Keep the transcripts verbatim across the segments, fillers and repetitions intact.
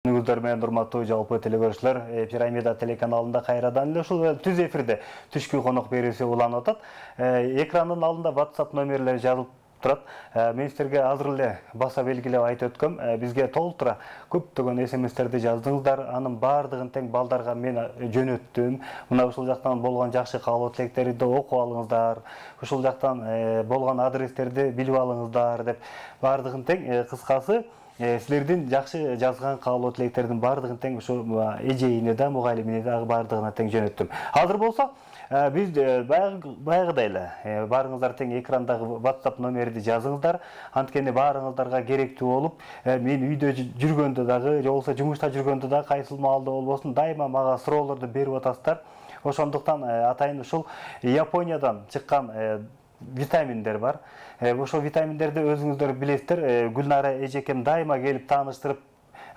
Күнүңүздөр менен урматтуу жалпы телегөрүүчүлөр, Пирамида телеканалында кайрадан эле ушул түз эфирде түшкү конок берүүсү уланып атат. Экрандын алдында WhatsApp номерлери жазылып турат. Мен силерге азыр эле баса белгилеп айтып өткөм. Бизге толтура көптөгөн смстерди жаздыңыздар. Анын баардыгын тең балдарга мен жөнөттүм. Мына ушул жактан болгон жакшы каалоо тилектерди окуп алыңыздар. Ушул жактан болгон адрестерди билип алыңыздар деп баардыгын тең кыскасы силердин жакшы жазган каалоо тилектердин баардыгын тең ушу эжейине да, мугалимине да баардыгына тең жөнөттүм. Азыр болсо биз баягыдай эле баарыңыздар тең экрандагы WhatsApp номерди жазыңыздар. Анткени баарыңыздарга керектүү болуп, мен үйдө жүргөндө дагы, же болбосо жумушта жүргөндө да кайсыл маалда болбосун дайыма мага суроолорду берип атасыздар. Ошондуктан атайын ушул Япониядан чыккан витаминдер бар. Ошол витаминдерди өзүңүздөр билесиздер. Гүлнара эжекем дайыма келип тааныштырып,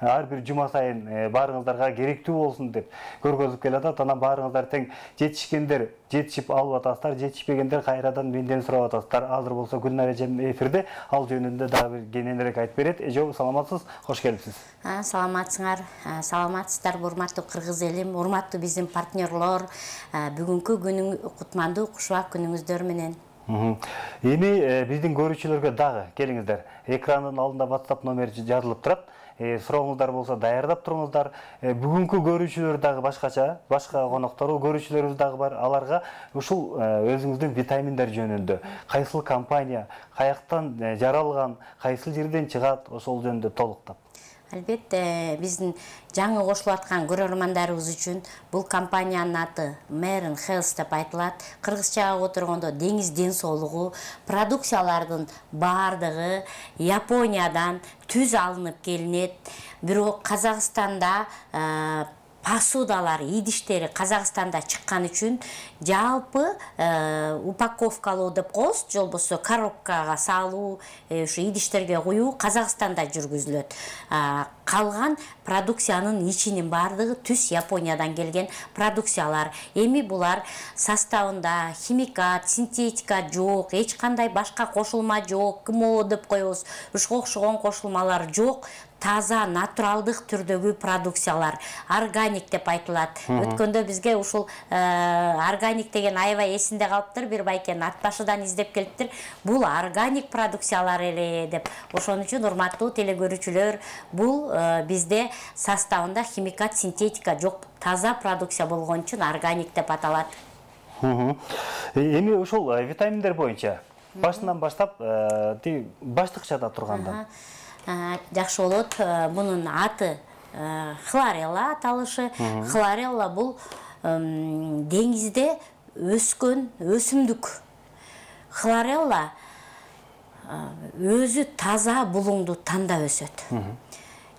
ар бир жума сайын баарыңыздарга керектүү болсун деп көргөзүп келатат. Анан баарыңыздар тең жетишкендер жетишип алып атасыздар, жетишпегендер кайрадан менден сурап атасыздар. Азыр болсо Гүлнара эжем эфирде ал жөнүндө дагы бир кененирээк айтып берет. Эже, саламатсыз, кош келипсиз. Саламатсыңар, саламатсыздар урматтуу кыргыз элим, урматтуу биздин партнерлор. Бүгүнкү күнүң кутмандуу, кушубак күнүңүздөр менен. Эми биздин көрүүчүлөргө дагы келиңиздер. Экрандын алдында WhatsApp номери жазылып турат. Сурооңуздар болсо даярдап туруңуздар. Бүгүнкү көрүүчүлөр дагы башкача, башка коноктору көрүүчүлөрүбүз дагы бар. Аларга ушул өзүңүздүн витаминдер жөнүндө, кайсыл компания, каяктан жаралган, кайсыл жерден чыгат, ошол жөнүндө толуктап. Албетте, биздин жаңы кошулуп аткан көрөрмандарыбыз үчүн бул компаниянын аты Marine Health деп айтылат. Кыргызчага отургондо деңиз ден соолугу. Продукциялардын баардыгы Япониядан түз алынып келинет. Бирок Казакстанда посудалар, идиштери Казакстанда чыккан үчүн жалпы упаковкалоо деп коебуз, же болбосо коробкага салуу, ушу идиштерге куюу Казакстанда жүргүзүлөт. Калган продукциянын ичинин баардыгы түз Япониядан келген продукциялар. Эми булар составында химикат, синтетика жок, эч кандай башка кошулма жок, КМО деп коебуз. Ушуга окшогон кошулмалар жок. Таза, натуралдык түрдөгү продукциялар, органик деп айтылат. Өткөндө бизге ушул органик деген аябай эсинде калыптыр, бир байкенин ат башыдан издеп келиптир. Бул органик продукциялар эле деп. Ошон үчүн урматтуу телекөрүүчүлөр, бул бизде составында химикат, синтетика жок, таза продукция болгон үчүн органик деп аталат. Эми ушул витаминдер боюнча башынан баштап, баштыкчада турганда жакшы болот. Бунун аты хлорелла аталышы. Хлорелла бул деңизде өскөн өсүмдүк. Хлорелла өзү таза булуңду тандап өсөт.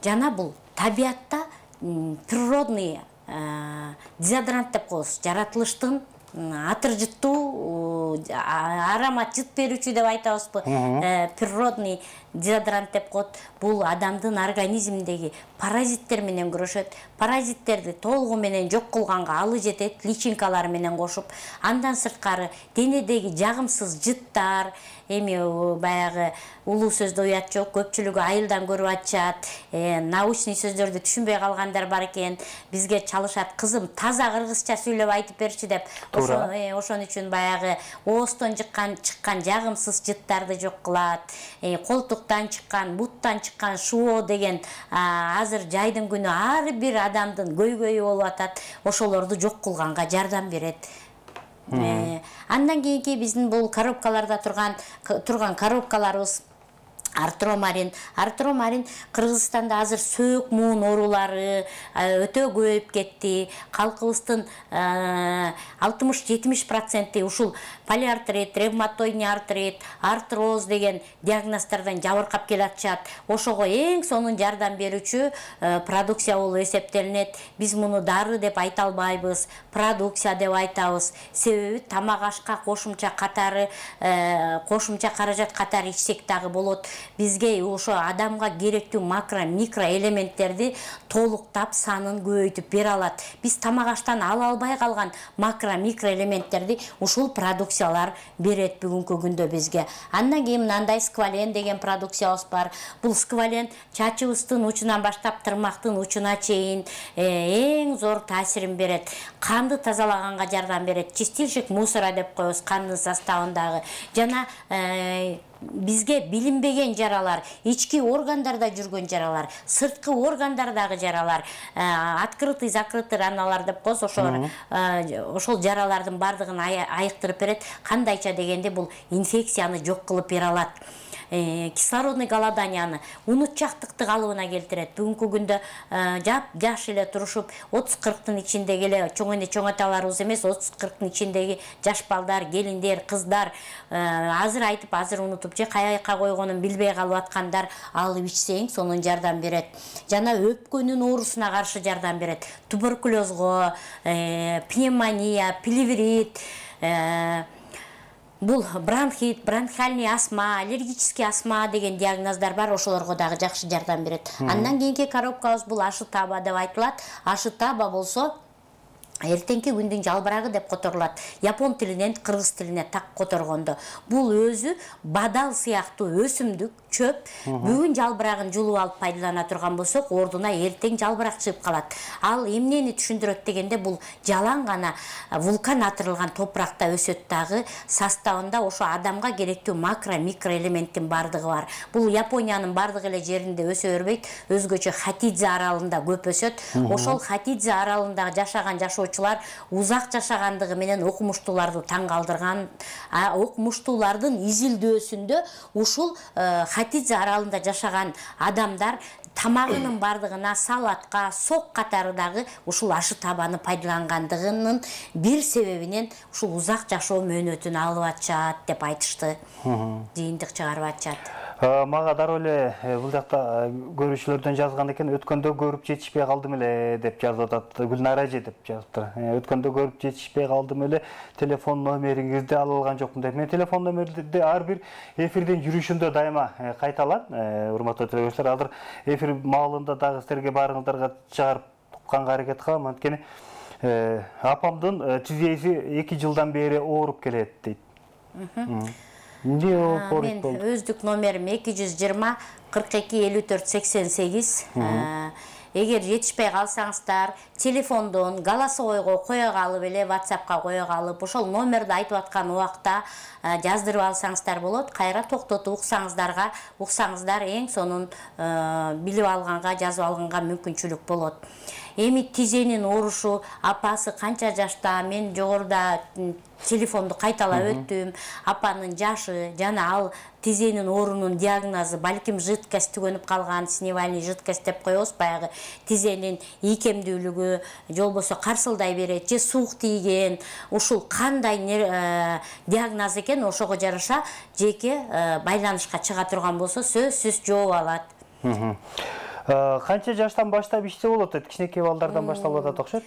Жана бул табиятта природный дезодорант деп коебуз. Жаратылыштын атыр жыттуу, аромат жыт берүүчү деп айтабызбы, природный дезодорант деп коет. Бул адамдын организминдеги паразиттер менен күрөшөт. Паразиттерди толугу менен жок кылганга алы жетет, личинкалар менен кошуп. Андан сырткары денедеги жагымсыз жыттар, эми баягы улуу сөздө уят жок, көпчүлүгү айылдан көрүп атышат, научный сөздөрдү түшүнбөй калгандар бар экен. Бизге чалышат, кызым таза кыргызча сүйлөп айтып берчи деп. Ошон үчүн баягы оостон чыккан чыккан жагымсыз жыттарды жок кылат. Колтуктан чыккан, буттан чыккан шоо деген азыр жайдын күнү ар бир адамдын көйгөйү болуп атат. Ошолорду жок кылганга жардам берет. Андан кийинки биздин бул коробкаларда турган турган коробкаларыбыз Артромарин. Артромарин Кыргызстанда азыр сөөк муун оорулары өтө көбөйүп кетти. Калкыбыздын алтымыш жетимиш проценти ушул полиартрит, ревматоидный артрит, артроз деген диагноздордон жабыркап келатышат. Ошого эң сонун жардам берүүчү продукция болуп эсептелинет. Биз муну дары деп айта албайбыз, продукция деп айтабыз. Себеби тамак ашка кошумча катары, кошумча каражат катары ичсек дагы болот. бизге ошо адамга керектүү макро микро элементтерди толуктап санын көбөйтүп бере алат. Биз тамак аштан ала албай калган макро микро элементтерди ушул продукциялар берет бүгүнкү күндө бизге. Андан кийин мындай сквален деген продукциябыз бар. Бул сквален чачыбыздын учунан баштап тырмактын учуна чейин эң зор таасирин берет. Канды тазалаганга жардам берет. Чистильщик мусора деп коебуз кандын составындагы. Жана бизге билинбеген жаралар, ички органдарда жүргөн жаралар, сырткы органдардагы жаралар, открытый закрытый раналар деп коебуз, ошол ошол жаралардын бардыгын айыктырып берет. Кандайча дегенде бул инфекцияны жок кылып бере алат. Кислородный голоданияны, унутчактыкты калыбына келтирет. Бүгүнкү күндө жап жаш эле турушуп отуз кырктын ичиндеги эле чоң эне чоң аталарыбыз эмес, отуз кырктын ичиндеги жаш балдар, келиндер, кыздар азыр айтып азыр унутуп же каяка койгонун билбей калып аткандар алып ичсең сонун жардам берет. Жана өпкөнүн оорусуна каршы жардам берет. Туберкулезго, пневмония, плеврит, бул бронхит, бронхиальный астма, аллергический астма деген диагноздар бар, ошолорго дагы жакшы жардам берет. Андан кийинки коробкабыз бул ашытаба деп айтылат. Ашытаба болсо эртеңки күндүн жалбырагы деп которулат. Япон тилинен кыргыз тилине так которгондо. Бул өзү бадал сыяктуу өсүмдүк, чөп. Бүгүн жалбырагын жулуп алып пайдалана турган болсок, ордуна эртең жалбырак чыгып калат. Ал эмнени түшүндүрөт дегенде, бул жалаң гана вулкан атырылган топуракта өсөт дагы, составында ошо адамга керектүү макро микро элементтин бардыгы бар. Бул Япониянын бардык эле жеринде өсө бербейт, өзгөчө Хатидзе аралында көп өсөт. Ошол Хатидзе аралында жашаган жашоочулар узак жашагандыгы менен окумуштууларды таң калтырган. Окумуштуулардын изилдөөсүндө ушул Хатидзе аралында жашаган адамдар тамагынын бардыгына салатка, сок катары дагы ушул ашытабаны пайдалангандыгынын бир себебинен ушул узак жашоо мөөнөтүн алып атышат деп айтышты. Жыйынтык чыгарып атышат. Мага дароо эле бул жакта көрүүчүлөрдөн жазган экен, өткөндө көрүп жетишпей калдым эле деп жазып атат. Гүлнара эже деп жазыптыр. Өткөндө көрүп жетишпей калдым эле, телефон номериңизди ала алган жокмун деп. Мен телефон номерди ар бир эфирдин жүрүшүндө дайыма кайталам. Урматтуу көрүүчүлөр, азыр эфир маалында дагы силерге баарыңыздарга чыгарып укканга аракет кылам. Анткени апамдын тизеси эки жылдан бери ооруп келет дейт. Мен өздүк номерим эки жүз жыйырма кырк эки элүү төрт сексен сегиз. Эгер жетишпей калсаңыздар, телефондон голосовойго кое калып эле, WhatsAppка кое калып, ошол номерди айтып аткан убакта жаздырып алсаңыздар болот. Кайра токтотуп уксаңыздарга, уксаңыздар эң сонун билип алганга, жазып алганга мүмкүнчүлүк болот. Эми тизенин оорушу, апасы канча жашта, мен жогоруда телефонду кайталап өттүм. Апанын жашы жана ал тизенин оорунун диагнозу балким жидкость түгөнүп калган, сневальный жидкость деп коебуз, баягы тизенин ийкемдүүлүгү, же болбосо карсылдай берет, же суук тийген, ушул кандай диагноз экен, ошого жараша жеке байланышка чыга турган болсо сөзсүз жооп алат. Канча жаштан баштап ичсе болот? Кичинекей балдардан башталып атат окшойт.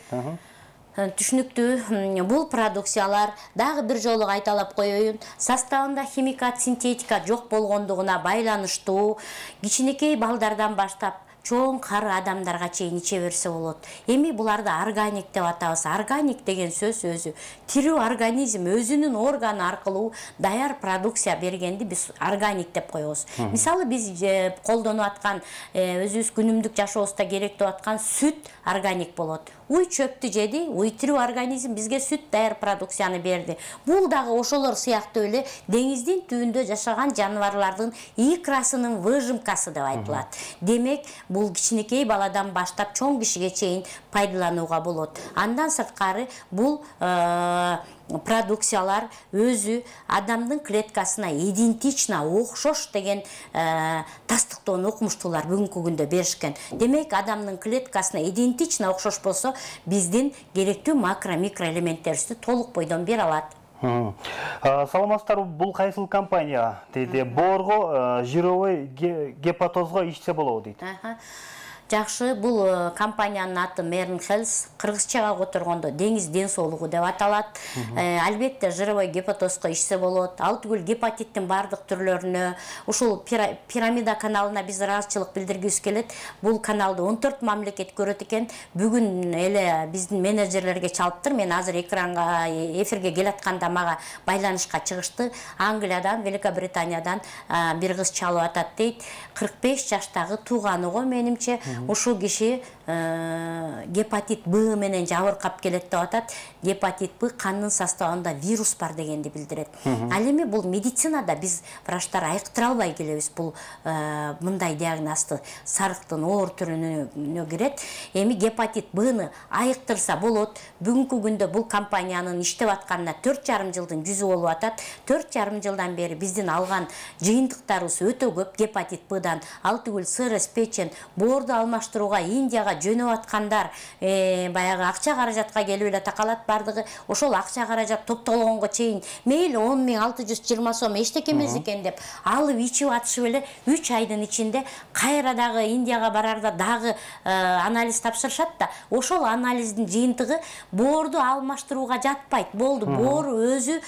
Түшүнүктүү. Бул продукциялар дагы бир жолу кайталап коеюн, составында химикат, синтетика жок болгондугуна байланыштуу, кичинекей балдардан баштап чоң кары адамдарга чейин иче берсе болот. Эми буларды органик деп атабыз. Органик деген сөз өзү тирүү организм өзүнүн органы аркылуу даяр продукция бергенди биз органик деп коебуз. Мисалы биз колдонуп аткан өзүбүз күнүмдүк жашообузда керектеп аткан сүт органик болот. Уй чөптү жеди, уй тирүү организм бизге сүт даяр продукцияны берди. Бул дагы ошолор сыяктуу эле деңиздин түбүндө жашаган жаныбарлардын икрасынын выжимкасы деп айтылат. Демек, бул кичинекей баладан баштап чоң кишиге чейин пайдаланууга болот. Андан сырткары бул продукциялар өзү адамдын клеткасына идентично, окшош деген тастыктоон окумуштуулар бүгүнкү күндө беришкен. Демек, адамдын клеткасына идентично окшош болсо, биздин керектүү макро микро элементтерибизди толук бойдон бере алат. Саламатсыздарбы, бул кайсыл компания дейди? Боорго, жировой гепатозго ичсе болобу дейт. Жакшы, бул компаниянын аты Mern Health, кыргызчага которгондо деңиз ден соолугу деп аталат. Албетте жировой гепатозго ичсе болот. Ал түгүл гепатиттин бардык түрлөрүнө, ушул пирамида каналына биз ыраазычылык билдиргибиз келет. Бул каналды он төрт мамлекет көрөт экен. Бүгүн эле биздин менеджерлерге чалыптыр. Мен азыр экранга, эфирге келатканда мага байланышка чыгышты. Англиядан, Великобританиядан бир кыз чалып атат дейт. кырк беш жаштагы тууганы го менимче. Ушул киши гепатит Б менен жабыркап келет деп атат. Гепатит Б кандын составында вирус бар дегенди билдирет. Ал эми бул медицинада биз врачтар айыктыра албай келебиз. Бул мындай диагнозду сарыктын оор түрүнө кирет. Эми гепатит Бны айыктырса болот. Бүгүнкү күндө бул компаниянын иштеп атканына төрт жарым жылдын жүзү болуп атат. төрт жарым жылдан бери биздин алган жыйынтыктарыбыз өтө көп гепатит Бдан. Ал түгүл сырыс, печень, боорду алмаштырууга Индияга жөнөп аткандар, баягы акча каражатка келип эле такалат бардыгы. Ошол акча каражат топтолгонго чейин мейли он миң алты жүз жыйырма сом эчтеке эмес экен деп алып ичип атышып эле үч айдын ичинде кайра дагы Индияга барарда дагы анализ тапшырышат да, ошол анализдин жыйынтыгы боорду алмаштырууга жатпайт. Болду, боор өзү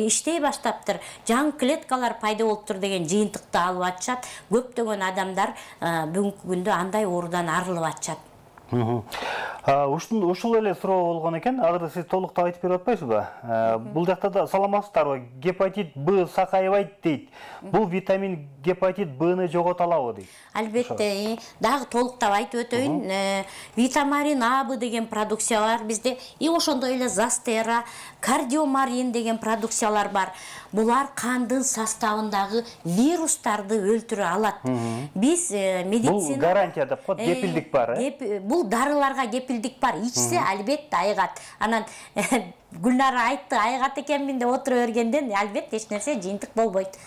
иштей баштаптыр. Жаңы клеткалар пайда болуптур деген жыйынтыкты алып атышат. Көптөгөн адамдар бүгүнкү күндө андай оорудан арылып атышат. Ушул эле суроо болгон экен. Азыр сиз толуктап айтып берип атпайсызбы? Бул жакта да саламатсыздарбы? Гепатит Б сакайбайт дейт. Бул витамин гепатит Бны жогото алабы дейт. Албетте, дагы толуктап айтып өтөйүн. Витамарин А Б деген продукциялар бизде, и ошондой эле Застера, кардиомарин деген продукциялар бар. Булар кандын составындагы вирустарды өлтүрө алат. Биз медицина... Бул гарантия деп коет, кепилдик бар, э? Бул дарыларга кепилдик бар. Ичсе албетте айыгат. Анан Гүлнара айтты, айыгат экенмин деп отура бергенден албетте эч нерсе жыйынтык болбойт.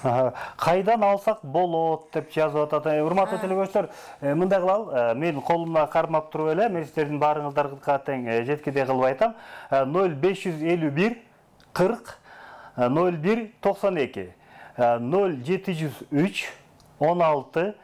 Кайдан алсак болот деп жазып атат. Урматтуу телебөчтөр, мындай кылалы, мен колумда кармап туруп эле, мен сиздердин баарыңыздарга тең жеткидей кылып айтам. ноль беш жүз элүү бир кырк ноль бир токсон эки, ноль жети жүз үч он алты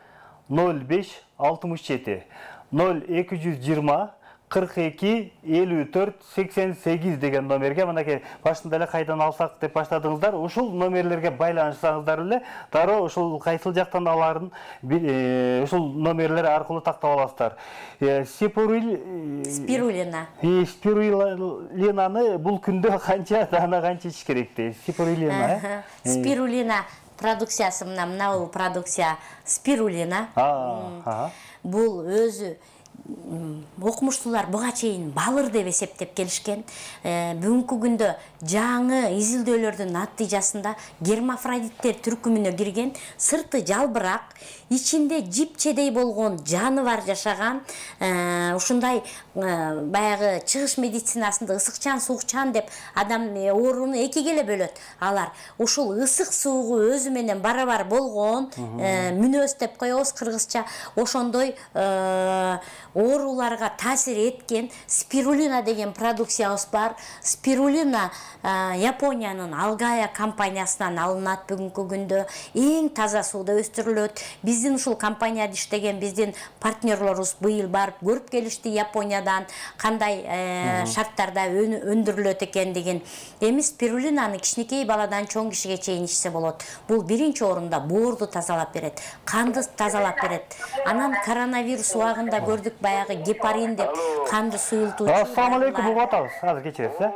ноль беш алтымыш жети, ноль эки жүз жыйырма кырк эки элүү төрт сексен сегиз деген номерге, мынакей башында эле кайдан алсак деп баштадыңыздар. Ушул номерлерге байланышсаңыздар эле дароо ушул кайсыл жактан аларын ушул номерлер аркылуу тактап аласыздар. Спирулина. Спирулинаны бул күндө канча дана канча ич керек дейт? Спирулина, э? Спирулина продукциясы мына мына продукция спирулина. Бул өзү окумуштуулар буга чейин балыр деп эсептеп келишкен. Бүгүнкү күндө жаңы изилдөөлөрдүн натыйжасында гермафродиттер түркүмүнө кирген, сырты жалбырак, ичинде жипчедей болгон жаныбар жашаган, ушундай баягы чыгыш медицинасында ысыкчан, суукчан деп адам ооруну экиге эле бөлөт. Алар ушул ысык суугу өзү менен барабар болгон, мүнөз деп коебуз кыргызча, ошондой ооруларга таасир эткен спирулина деген продукциябыз бар. Спирулина Япониянын Алгая компаниясынан алынат бүгүнкү күндө. Эң таза сууда өстүрүлөт. Биздин ушул компанияда иштеген биздин партнерлорубуз быйыл барып көрүп келишти Япониядан кандай шарттарда өндүрүлөт экендигин. Эми спирулинаны кичинекей баладан чоң кишиге чейин ичсе болот. Бул биринчи орунда боорду тазалап берет, канды тазалап берет. Анан коронавирус убагында көрдүк баягы гепарин деп канды суюлтуучу. Ассаламу алейкум, угуп атабыз. Азыр кечиресиз, э?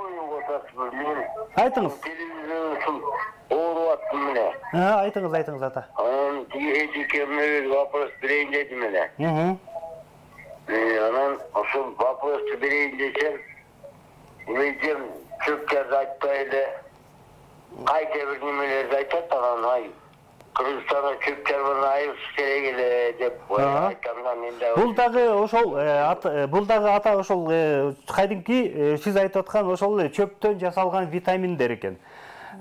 Айтыңыз. Ооруп аттым эле. Айтыңыз, айтыңыз ата. Анан тиги вопрос берейин дедим эле. Анан ошол вопросту берейин десем, эжем чөпчөрдү айтпай эле кайта бир немелерди айтат, анан ай Кыргызстанда чөп-чарбаны айырыш керек эле деп айтканда мен да. Бул дагы ошол бул дагы ата ошол кайдымки сиз айтып аткан ошол чөптөн жасалган витаминдер экен.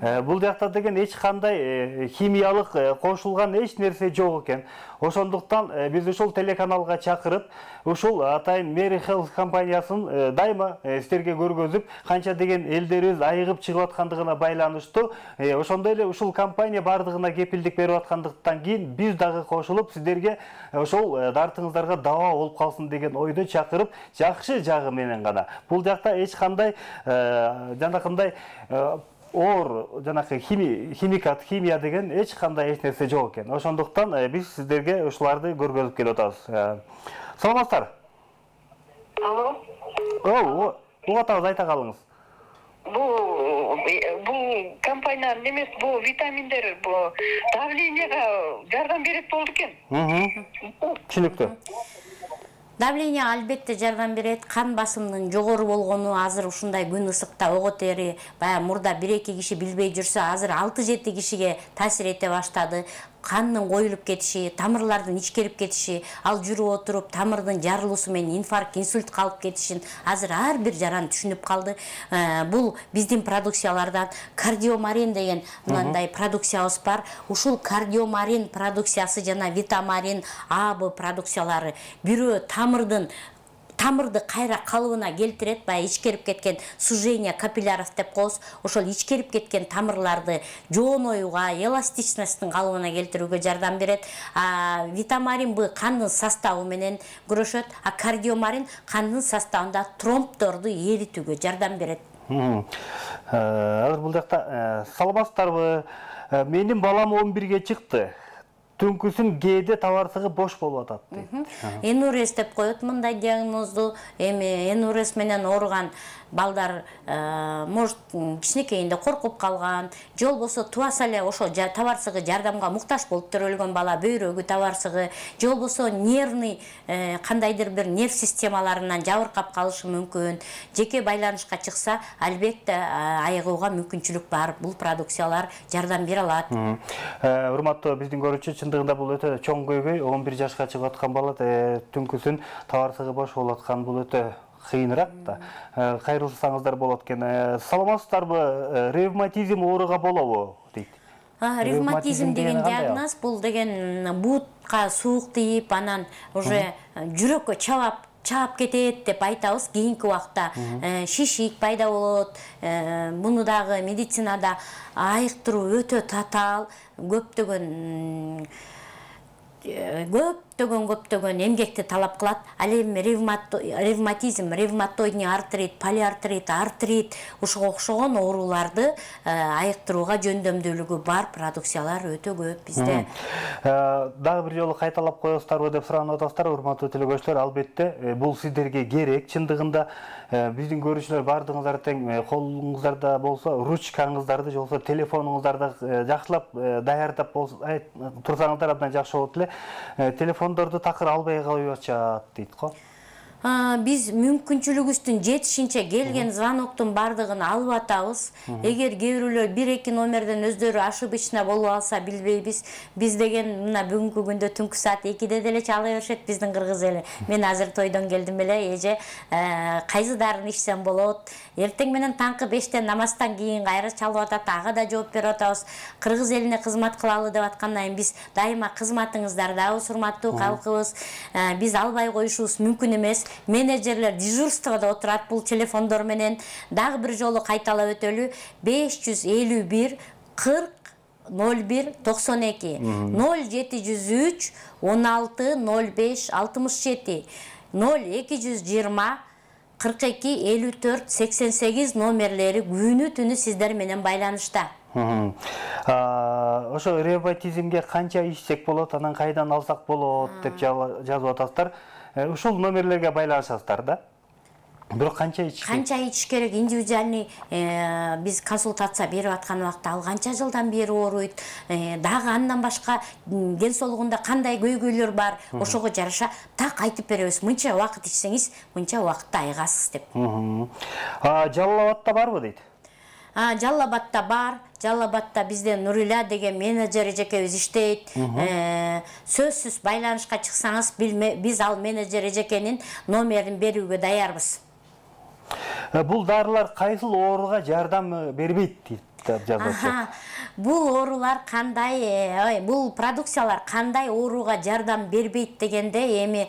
Бул жакта деген эч кандай химиялык кошулган эч нерсе жок экен. Ошондуктан биз ушул телеканалга чакырып, ушул атайын Mary Health компаниясын дайыма сиздерге көргөзүп, канча деген элдерибиз айыгып чыгып аткандыгына байланыштуу, ошондой эле ушул компания бардыгына кепилдик берип аткандыктан кийин биз дагы кошулуп сиздерге ошол дартыңыздарга даба болуп калсын деген ойду чакырып, жакшы жагы менен гана. Бул жакта эч кандай жанакындай оор жанакы химикат, химия деген эч кандай эч нерсе жок экен. Ошондуктан биз сиздерге ушуларды көргөзүп келип атабыз. Саламатсыздар? Алло. О, угуп атабыз, айта калыңыз. Бул бул компания немес, бул витаминдер, бул давлениега жардам берет болду экен. Түшүнүктүү. Давление албетте жардам берет. Кан басымдын жогору болгону азыр ушундай күн ысыкта ого тери, баягы мурда бир эки киши билбей жүрсө, азыр алты жети кишиге таасир эте баштады. Кандын коюлуп кетиши, тамырлардын ичкерип кетиши, ал жүрүп отуруп тамырдын жарылуусу менен инфаркт, инсульт калып кетишин азыр ар бир жаран түшүнүп калды. Бул биздин продукциялардан кардиомарин деген мындай продукциябыз бар. Ушул кардиомарин продукциясы жана витамарин А Б продукциялары бирөө тамырдын тамырды кайра калыбына келтирет, баягы ичкерип кеткен сужение капилляров деп коебуз. Ошол ичкерип кеткен тамырларды жооноюга, эластичносттун калыбына келтирүүгө жардам берет. А витамарин Б кандын составы менен күрөшөт, а кардиомарин кандын составында тромбдорду эритүүгө жардам берет. Азыр бул жакта саламатсыздарбы? Менин балам он бирге чыкты. Түнкүсүн кээде табарсыгы бош болуп атат дейт. Энурез деп коет мындай диагнозду. Эми энурез менен ооруган балдар может кичинекейинде коркуп калган, же болбосо тубаса эле ошо табарсыгы жардамга муктаж болуп төрөлгөн бала, бөйрөгү табарсыгы, же болбосо нервный кандайдыр бир нерв системаларынан жабыркап калышы мүмкүн. Жеке байланышка чыкса, албетте айыгууга мүмкүнчүлүк бар. Бул продукциялар жардам бере алат. Урматтуу биздин көрүүчү, чындыгында бул өтө чоң көйгөй. он бир жашка чыгып аткан бала түнкүсүн табарсыгы бош болуп аткан, бул өтө кыйыныраак да. Кайрылсаңыздар болот экен. Саламатсыздарбы? Ревматизм ооруга болобу дейт. Ревматизм деген диагноз, бул деген буутка суук тийип, анан уже жүрөккө чабап чаап кетет деп айтабыз. Кийинки убакта шишик пайда болот. Муну дагы медицинада айыктыруу өтө татаал, көптөгөн көптөгөн көптөгөн эмгекти талап кылат. Ал эми ревматизм, ревматоидный артрит, полиартрит, артрит ушуга окшогон ооруларды айыктырууга жөндөмдүүлүгү бар продукциялар өтө көп бизде. Дагы бир жолу кайталап коесуздарбы деп суранып атасыздар, урматтуу телекөрүүчүлөр. Албетте бул сиздерге керек. Чындыгында биздин көрүүчүлөр бардыгыңыздар тең колуңуздарда болсо ручкаңыздарды же болбосо телефонуңуздарды жакшылап даярдап турсаңыздар абдан жакшы болот эле. Телефондорду такыр албай коюп атышат дейт го. Биз мүмкүнчүлүгүбүздүн жетишинче келген звоноктун бардыгын алып атабыз. Эгер кээ бирөөлөр бир эки номерден өздөрү ошибочно болуп алса билбейбиз. Биз деген мына бүгүнкү күндө түнкү саат экиде деле чала беришет биздин кыргыз эли. Мен азыр тойдон келдим эле, эже кайсы дарын ичсем болот. Эртең менен таңкы бештен намаздан кийин кайра чалып атат, ага да жооп берип атабыз. Кыргыз элине кызмат кылалы деп аткандан кийин биз дайыма кызматыңыздардабыз, урматтуу калкыбыз. Биз албай коюшубуз мүмкүн эмес. Менеджерлер дежурствода отурат бул телефондор менен. Дагы бир жолу кайталап өтөлү: беш жүз элүү бир кырк ноль бир токсон эки, ноль жети жүз үч он алты ноль беш алтымыш жети, ноль эки жүз жыйырма кырк эки элүү төрт сексен сегиз номерлери күнү түнү сиздер менен байланышта. Ошо ревматизмге канча ичсек болот, анан кайдан алсак болот деп жазып атасыздар. Ушул номерлерге байланышасыздар да. Бирок канча ичиш керек? Канча ичиш керек? Индивидуальный биз консультация берип аткан убакта ал канча жылдан бери ооруйт, дагы андан башка ден соолугунда кандай көйгөйлөр бар, ошого жараша так айтып беребиз. Мынча убакыт ичсеңиз, мынча убакытта айыгасыз деп. Жалал Абадта барбы дейт? Жалал Абадта бар. Жалал Абадта бизде Нурила деген менеджер эжекебиз иштейт. Сөзсүз байланышка чыксаңыз, биз ал менеджер эжекенин номерин берүүгө даярбыз. Бул дарылар кайсыл ооруга жардам бербейт дейт? деп жазылчу. Бул оорулар кандай, ой, бул продукциялар кандай ооруга жардам бербейт дегенде эми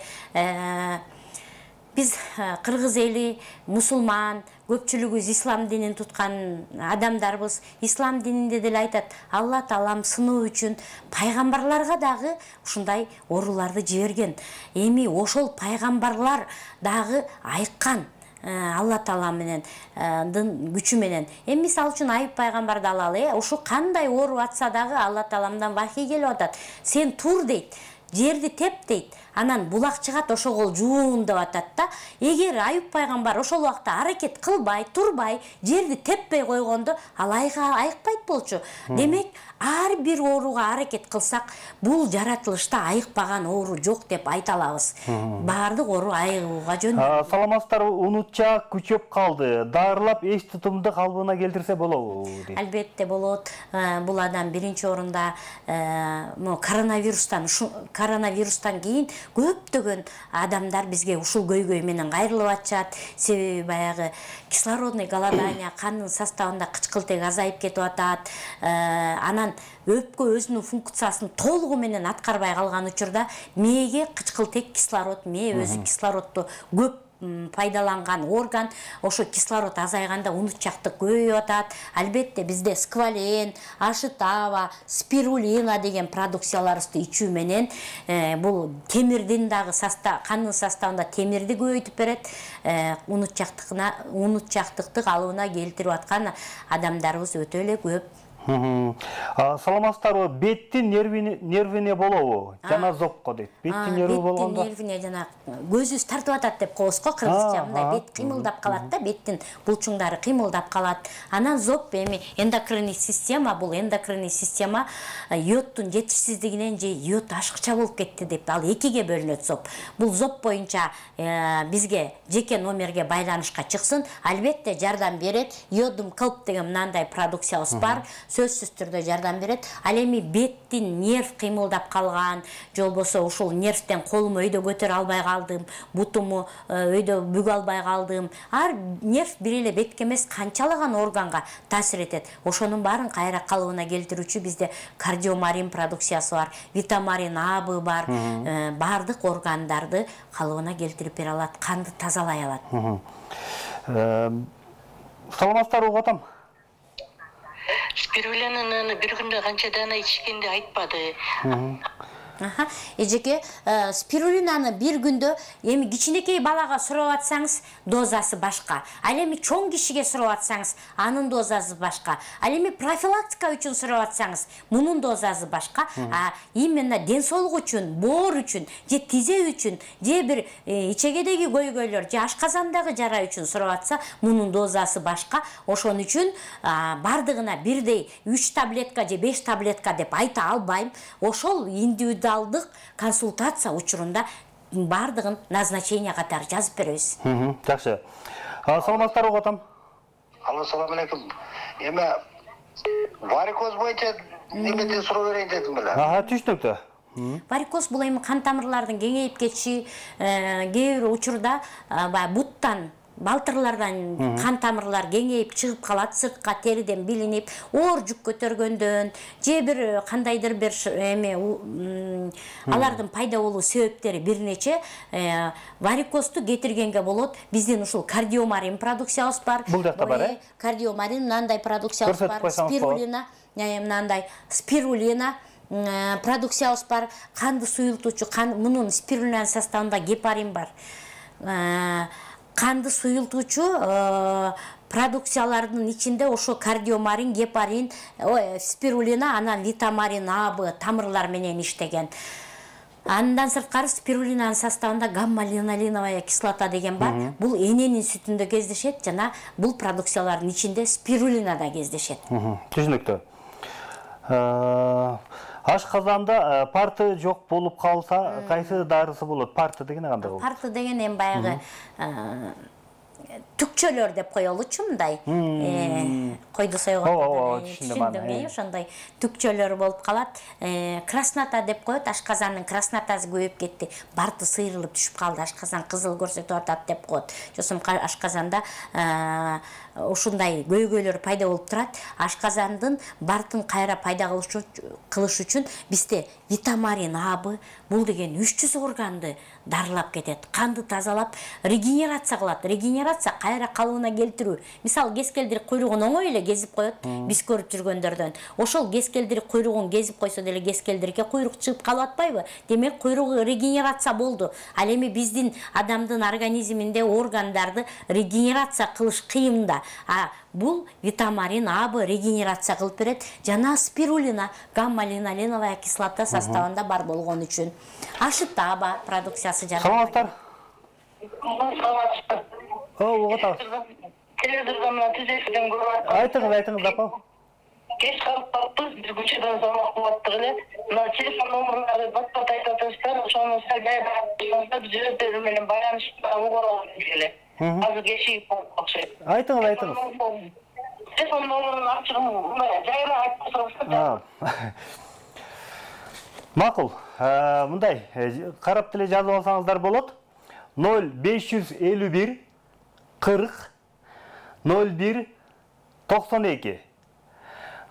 биз кыргыз эли мусулман, көпчүлүгүбүз ислам динин туткан адамдарбыз. Ислам дининде деле айтат, Алла Таалам сыноо үчүн пайгамбарларга дагы ушундай ооруларды жиберген. Эми ошол пайгамбарлар дагы айыккан. Алла Таала менен күчү менен. Эми мисалы үчүн Айып пайгамбарды алалы, ушу кандай оору атса дагы Алла Тааламдан вахий келип атат. Сен тур дейт, жерди теп дейт. Анан булак чыгат, ошого жуун деп атат да. Эгер Айып пайгамбар ошол убакта аракет кылбай, турбай, жерди теппей койгондо, ал айыкпайт болчу. Демек, ар бир ооруга аракет кылсак, бул жаратылышта айыкпаган оору жок деп айта алабыз. Баардык оору айыгууга жөндөмү. Саламатсыздарбы, унутчаак күчөп калды. Дарылап эч тутумду калыбына келтирсе болобу дейт. Албетте болот. Бул адам биринчи орунда коронавирустан, коронавирустан кийин көптөгөн адамдар бизге ушул көйгөй менен кайрылып атышат. Себеби баягы кислородный голодание, кандын составында кычкылтек азайып кетип атат. Анан өпкө өзүнүн функциясын толугу менен аткарбай калган учурда мээге кычкылтек кислород, мээ өзү кислородду көп пайдаланган орган, ошо кислород азайганда унутчактык көбөйүп атат. Албетте бизде сквален, ашытава, спирулина деген продукцияларыбызды ичүү менен бул темирдин дагы состав, кандын составында темирди көбөйтүп берет. Унутчактыкына, унутчактыкты калыбына келтирип аткан адамдарыбыз өтө эле көп. Саламатсыздарбы, беттин нервине болобу? Жана зопко дейт. Беттин нерви болгондо. Беттин нервине жана көзүбүз тартып атат деп коебуз го, кыргызча мындай бет кыймылдап калат да, беттин булчуңдары кыймылдап калат. Анан зоп эми эндокринный система, бул эндокринный система йодтун жетишсиздигинен же йод ашыкча болуп кетти деп ал экиге бөлүнөт зоп. Бул зоп боюнча бизге жеке номерге байланышка чыксын, албетте жардам берет. Йодум кылп деген мындай продукциябыз бар. Сөзсүз түрдө жардам берет. Ал эми беттин нерв кыймылдап калган, же болбосо ушул нервтен колуму өйдө көтөрө албай калдым, бутуму өйдө бүгө албай калдым. Ар нерв бир эле бетке эмес, канчалаган органга таасир этет. Ошонун баарын кайра калыбына келтирүүчү бизде кардиомарин продукциясы бар, витамарин А Б бар, баардык органдарды калыбына келтирип бере алат, канды тазалай алат. Саламатсыздарбы атам? Спирулинаны бир күндө канча дана ичкенди айтпады. Аха, эжеке, спирулинаны бир күндө эми кичинекей балага сурап атсаңыз, дозасы башка. Ал эми чоң кишиге сурап атсаңыз, анын дозасы башка. Ал эми профилактика үчүн сурап атсаңыз, мунун дозасы башка. А именно ден соолук үчүн, боор үчүн, же тизе үчүн, же бир ичегедеги көйгөйлөр, же ашказандагы жара үчүн сурап атса, мунун дозасы башка. Ошон үчүн бардыгына бирдей үч таблетка же беш таблетка деп айта албайм. Ошол индивидуалдык консультация учурунда бардыгын назначение катары жазып беребиз. Жакшы. Саламатсыздарбы атам? Алло, салам алейкум. Эме варикоз боюнча немеден суроо берейин дедим беле. Ага, түшүнүктүү. Варикоз бул эми кан тамырлардын кеңейип кетиши, кээ бир учурда баягы буттан, балтырлардан кан тамырлар кеңейип чыгып калат, сыртка териден билинип, оор жүк көтөргөндөн, же бир кандайдыр бир эми алардын пайда болуу себептери бир нече. Варикозду кетиргенге болот. Биздин ушул кардиомарин продукциябыз бар. Бул жакта бар, э? Кардиомарин мындай продукциябыз бар. Спирулина, мындай спирулина продукциябыз бар. Канды суюлтуучу, мунун спирулинанын составында гепарин бар. Канды суюлтуучу продукциялардын ичинде ошо кардиомарин, гепарин, спирулина, анан витамарин А Б тамырлар менен иштеген. Андан сырткары спирулинанын составында гамма-линолиновая кислота деген бар. Бул эненин сүтүндө кездешет, жана бул продукциялардын ичинде спирулина да кездешет. Түшүнүктүү. Ашказанда парты жок болуп калса, кайсы дарысы болот? Парты деген кандай болот? Парты деген эми баягы түкчөлөр деп коелучу мындай. Койду сойгондо түшүндүм, ошондой түкчөлөр болуп калат. Краснота деп коет, ашказандын краснотасы көбөйүп кетти. Барты сыйрылып түшүп калды, ашказан кызыл көрсөтүп атат деп коет. Жосум ашказанда ушундай көйгөйлөр пайда болуп турат. Ашказандын бартын кайра пайда кылыш үчүн бизде витамарин абы, бул деген үч жүз органды дарылап кетет. Канды тазалап, регенерация кылат. Регенерация кайра калыбына келтирүү. Мисалы, кескелдирик куйругун оңой эле кезип коет, биз көрүп жүргөндөрдөн. Ошол кескелдирик куйругун кезип койсо деле кескелдирикке куйрук чыгып калып атпайбы? Демек, куйругу регенерация болду. Ал эми биздин адамдын организминде органдарды регенерация кылыш кыйын да. А бул витамарин абы регенерация кылып берет. Жана спирулина, гамма-линоленовая кислота составында бар болгон үчүн. Ашытаба продукциясы жана. Саламатсыздар. О, угатабыз. Телевизордон түзөтүлгөн көрүп. Айтыңыз, айтыңыз, апа. Кеч калып калыппыз, биз көчөдөн салмак болуп аттык эле. Мына телефон номерлерди бат-бат айтып атыптыр, ошону сал жайга биз өздөрү менен байланышып угуп эле. Азыр кечигип болуп окшойт. Айтыңыз, айтыңыз. Телефон номерин ачыгым, мындай жайра айтып турсаңыздар. Макул. Мындай карап деле жазып алсаңыздар болот. ноль беш жүз элүү бир кырк ноль бир токсон эки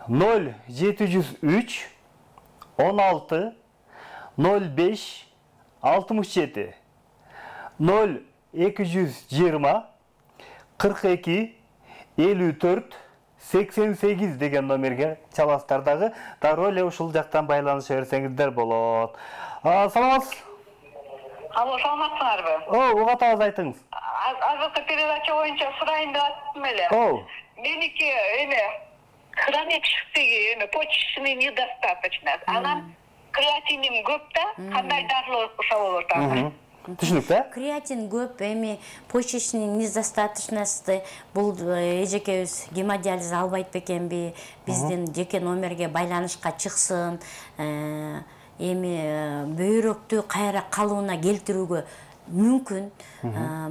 ноль жети жүз үч он алты ноль беш алтымыш жети ноль эки жүз жыйырма кырк эки элүү төрт сексен сегиз деген номерге чаласыздар дагы. Дароо эле ушул жактан байланыша берсеңиздер болот. Саламатсыз. Алло, саламатсыңарбы? О, угатабыз, айтыңыз. Азыркы передача боюнча сурайын деп аттым эле. О. Меники эме хронический эме почечный недостаточность. Анан креатиним көп да, кандай дарылоо кылса болот аны? Түшүнүктүү. Креатин көп, эми почечный недостаточности бул эжекебиз гемодиализ албайт бекенби? Биздин жеке номерге байланышка чыксын. Эми бөйрөктү кайра калыбына келтирүүгө мүмкүн.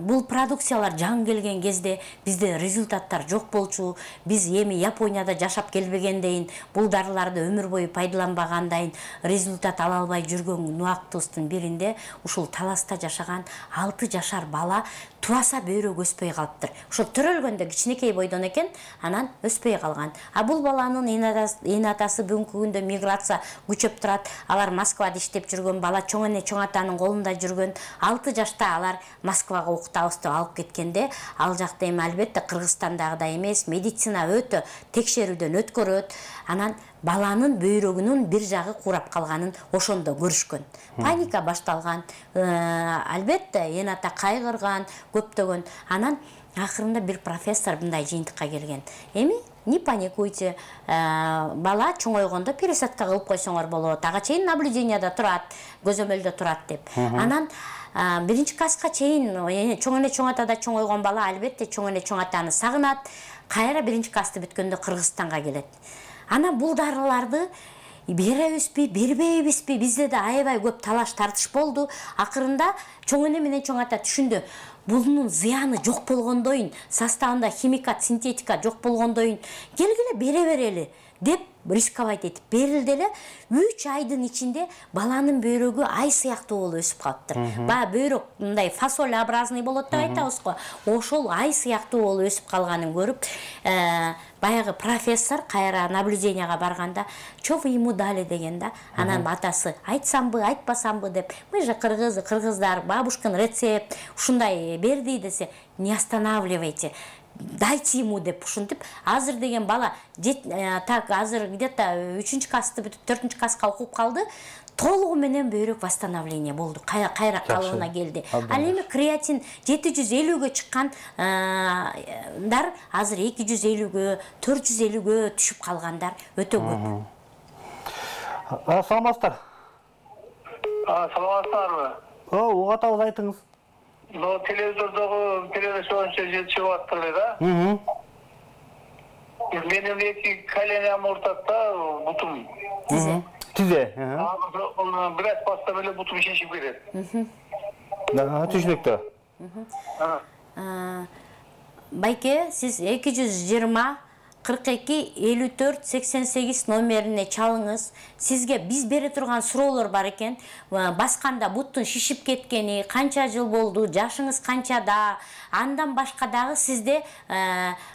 Бул продукциялар жаңы келген кезде бизде результаттар жок болчу. Биз эми Японияда жашап келбегендейин, бул дарыларды өмүр бою пайдаланбагандайын результат ала албай жүргөн убактыбыздын биринде ушул Таласта жашаган алты жашар бала туаса бөйрөк өспөй калыптыр. Ошо төрөлгөндө кичинекей бойдон экен, анан өспөй калган. А бул баланын эне атасы бүгүнкү күндө миграция күчөп турат. Алар Москвада иштеп жүргөн бала, чоң эне чоң атанын колунда жүргөн. алты жашта алар Москвага окутабыз деп алып кеткенде, ал жакта эми албетте Кыргызстандагыдай эмес, медицина өтө текшерүүдөн өткөрөт. Анан баланын бөйрөгүнүн бир жагы курап калганын ошондо көрүшкөн. Паника башталган. Албетте эне ата кайгырган, көптөгөн. Анан акырында бир профессор мындай жыйынтыкка келген. Эми не паникуйте, бала чоңойгондо пересадка кылып койсоңор болот. Ага чейин наблюденияда турат, көзөмөлдө турат деп. Анан биринчи класска чейин чоң эне чоң атада чоңойгон бала албетте чоң эне чоң атаны сагынат. Кайра биринчи классты бүткөндө Кыргызстанга келет. Ана бул дарыларды беребизби, бербейбизби? Бизде да аябай көп талаш тартыш болду. Акырында чоң эне менен чоң ата түшүндү. Bunun зыяны жок болгондойун, составында химикат, синтетика жок болгондойун келгиле бере берели деп рисковать этип берилди эле. үч айдын ичинде баланын бөйрөгү ай сыяктуу болуп өсүп калыптыр. Баягы бөйрөк мындай фасолеобразный болот деп айтабыз го. Ошол ай сыяктуу болуп өсүп калганын көрүп, баягы профессор кайра наблюденияга барганда, "Чё вы ему дали" деген да. Анан атасы айтсамбы, айтпасамбы деп, "Мы же кыргыз, кыргыздар, бабушкин рецепт, ушундай берди" десе, "Не останавливайте. Дайте ему" деп ушинтип, азыр деген бала так азыр где-то үчүнчү классты бүтүп төртүнчү класска окуп калды. Толугу менен бөйрөк восстановление болду. Кайра калыбына келди. Ал эми креатин жети жүз элүүгө чыккандар азыр эки жүз элүүгө, төрт жүз элүүгө түшүп калгандар өтө көп. Саламатсыздар. Саламатсыздарбы? О, угатабыз, айтыңыз. Но телевизордогу передача боюнча жетишип аттыр да. Мм. Менин эки коленям ортасында бутум. Тизе. Тизе. Аны бир аз бассам эле бутум шешип кетет. Да, түшүнүктүү. Байке, сиз эки жүз жыйырма кырк эки элүү төрт сексен сегиз номерине чалыңыз. Сизге биз бере турган суроолор бар экен. Басканда буттун шишип кеткени, канча жыл болду, жашыңыз канчада, андан башка дагы сизде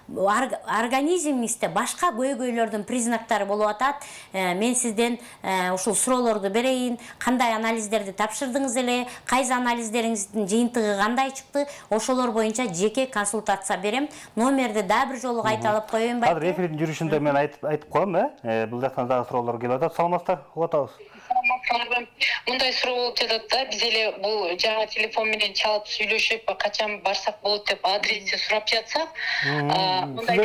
организмиңизде башка көйгөйлөрдүн признактары болуп атат. Мен сизден ушул суроолорду берейин. Кандай анализдерди тапшырдыңыз эле? Кайсы анализдериңиздин жыйынтыгы кандай чыкты? Ошолор боюнча жеке консультация берем. Номерди дагы бир жолу кайталап коеюн. Эфирдин жүрүшүндө мен айтып айтып коем, э? Бул жактан дагы суроолор келип атат. Саламатсыздар, угатабыз. Мындай суроо болуп жатат да, биз эле бул жаңы телефон менен чалып сүйлөшүп, качан барсак болот деп адрести сурап жатсак, мындай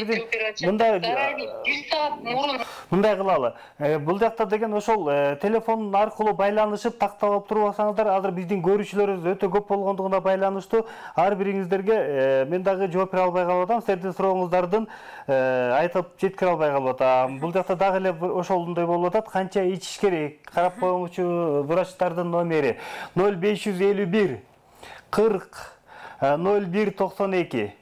мындай бир саат мурун мындай кылалы. Бул жакта деген ошол телефон аркылуу байланышып тактап алып турбасаңыздар, азыр биздин көрүүчүлөрүбүз өтө көп болгондугуна байланыштуу ар бириңиздерге мен дагы жооп бере албай калып атам. Сиздердин сурооңуздардын айтып жеткире албай калып атам. Бул жакта дагы эле ошондой болуп атат. Канча ичиш керек? Карап коюңузчу врачтардын номери ноль беш жүз элүү бир кырк ноль бир токсон эки,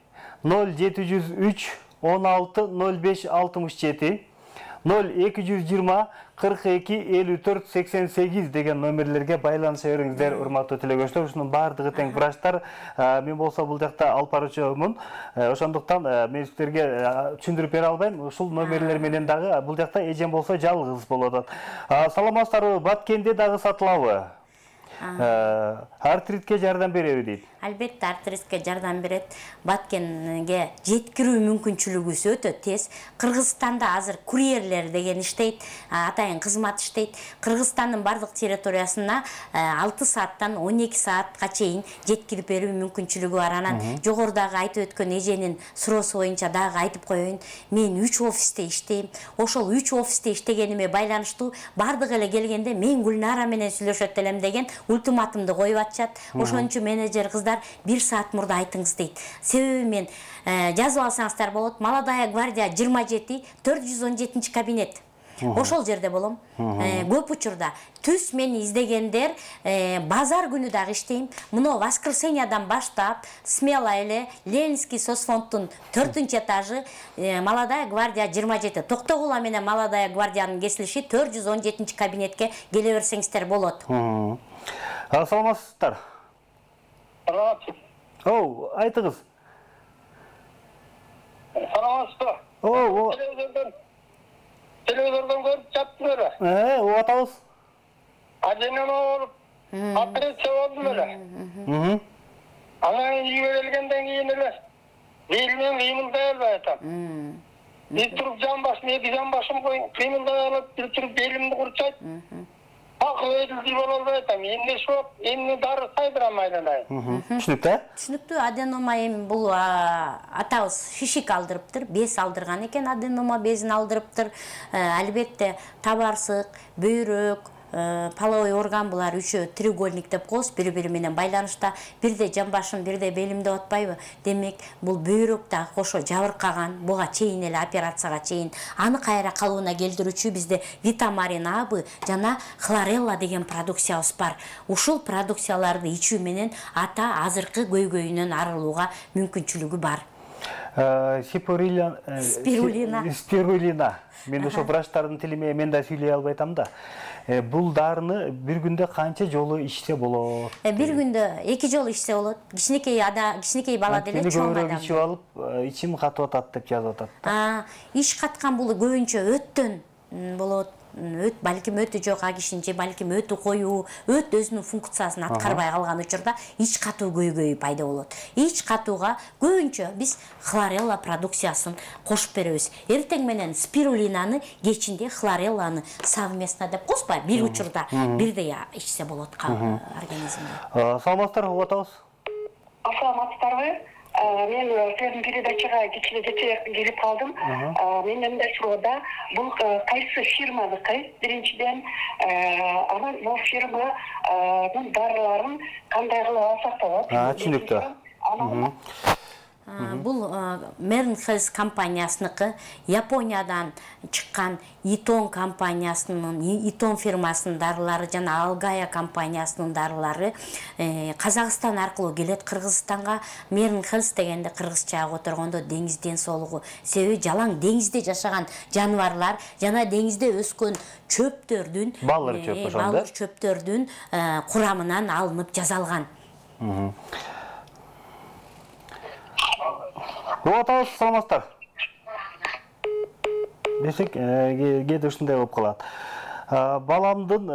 ноль жети жүз үч он алты ноль беш алтымыш жети, ноль эки жүз жыйырма кырк эки элүү төрт сексен сегиз деген номерлерге байланыша бериңиздер, урматтуу телегөрүүчүлөр. Ушунун баардыгы тең врачтар. Мен болсо бул жакта алып баруучумун. Ошондуктан мен сиздерге түшүндүрүп бере албайм. Ушул номерлер менен дагы бул жакта эжем болсо жалгыз болот. Саламатсыздарбы? Баткенде дагы сатылабы? Артритке жардам береби дейт. Албетте артритке жардам берет. Баткенге жеткирүү мүмкүнчүлүгү өтө тез. Кыргызстанда азыр курьерлер деген иштейт, атайын кызмат иштейт. Кыргызстандын бардык территориясына алты сааттан он эки саатка чейин жеткирип берүү мүмкүнчүлүгү бар. Анан жогорудагы айтып өткөн эженин суроосу боюнча дагы айтып коеюн. Мен үч офисте иштейм. Ошол үч офисте иштегениме байланыштуу бардык эле келгенде мен Гүлнара менен сүйлөшөт элем деген ультиматумду коюп атышат. Ошончу менеджер кыздар бир саат мурда айтыңыз дейт. Себеби мен жазып алсаңыздар болот. Молодая гвардия жыйырма жети төрт жүз он жетинчи кабинет. Ошол жерде болом. Көп учурда түз мени издегендер базар күнү дагы иштейм. Муну воскресеньядан баштап смело эле Ленинский соцфонддун төртүнчү этажы Молодая гвардия жыйырма жети. Токтогула менен Молодая гвардиянын кесилиши төрт жүз он жетинчи кабинетке келе берсеңиздер болот. Саламатсыздар? Саламатсыз. Оу, айтыңыз. Саламатсызбы? Оу, телевизордон көрүп жаттым эле. Э, угатабыз. Аденема болуп, операция болдум эле. Анан үйгө келгенден кийин эле белимен кыймылдай албай атам. Бир туруп жан башым, эки жан башым кыймылдай алып, бир туруп белимди курчайт. Акыл өйдүлдү боло албай атам. Эмне шоп, эмне дары сайдырам айланайын. Түшүнүктүү? Түшүнүктүү. Аденома эми бул атабыз шишик алдырыптыр, без алдырган экен, аденома безин алдырыптыр. Албетте табарсык, бөйрөк, половой орган булар үчөө треугольник деп коебуз, бири-бири менен байланышта. Бирде жамбашым, бирде белим деп атпайбы? Демек, бул бөйрөк да кошо жабыркаган, буга чейин эле операцияга чейин аны кайра калыбына келтирүүчү бизде Витамарин абы жана Хлорелла деген продукциябыз бар. Ушул продукцияларды ичүү менен ата азыркы көйгөйүнөн арылууга мүмкүнчүлүгү бар. Спирулина. Спирулина. Мен ошо врачтардын тилиме мен да сүйлөй албай атам да. Бул дарыны бир күндө канча жолу ичсе болот? Бир күндө эки жолу ичсе болот. Кичинекей ада, кичинекей бала деле чоң адам. Ичип алып, ичим катып атат деп жазып атат. А, ич каткан бул көбүнчө өттөн болот. Өт балким өтү жок, а кишинче балким өтү коюу, өт өзүнүн функциясын аткарбай калган учурда ич катуу көйгөйү пайда болот. Ич катууга көбүнчө биз Хлорелла продукциясын кошуп беребиз. Эртең менен спирулинаны, кечинде Хлорелланы совместно деп коебузбу? Бир учурда бирдей ичсе болот организмде. Саламатсыздар, угатабыз. Саламатсыздарбы? Мен сиздин передачага кичине жетерээк келип калдым. Мен мындай суроода, бул кайсы фирманыкы? Биринчиден, анан бул фирманын дарыларын кандай кылып алсак болот? Түшүнүктүү. Бул Merlin Health компаниясыныкы, Япониядан чыккан Итон компаниясынын, Итон фирмасынын дарылары жана Алгая компаниясынын дарылары Казакстан аркылуу келет Кыргызстанга. Merlin Health дегенде кыргызчага которгондо деңиз ден соолугу. Себеби жалаң деңизде жашаган жаныбарлар жана деңизде өскөн чөптөрдүн, балыр чөп ошондо. Балыр чөптөрдүн курамынан алынып жасалган. Угатабыз, саламатсыздар. Десек, кээде ушундай болуп калат. Баламдын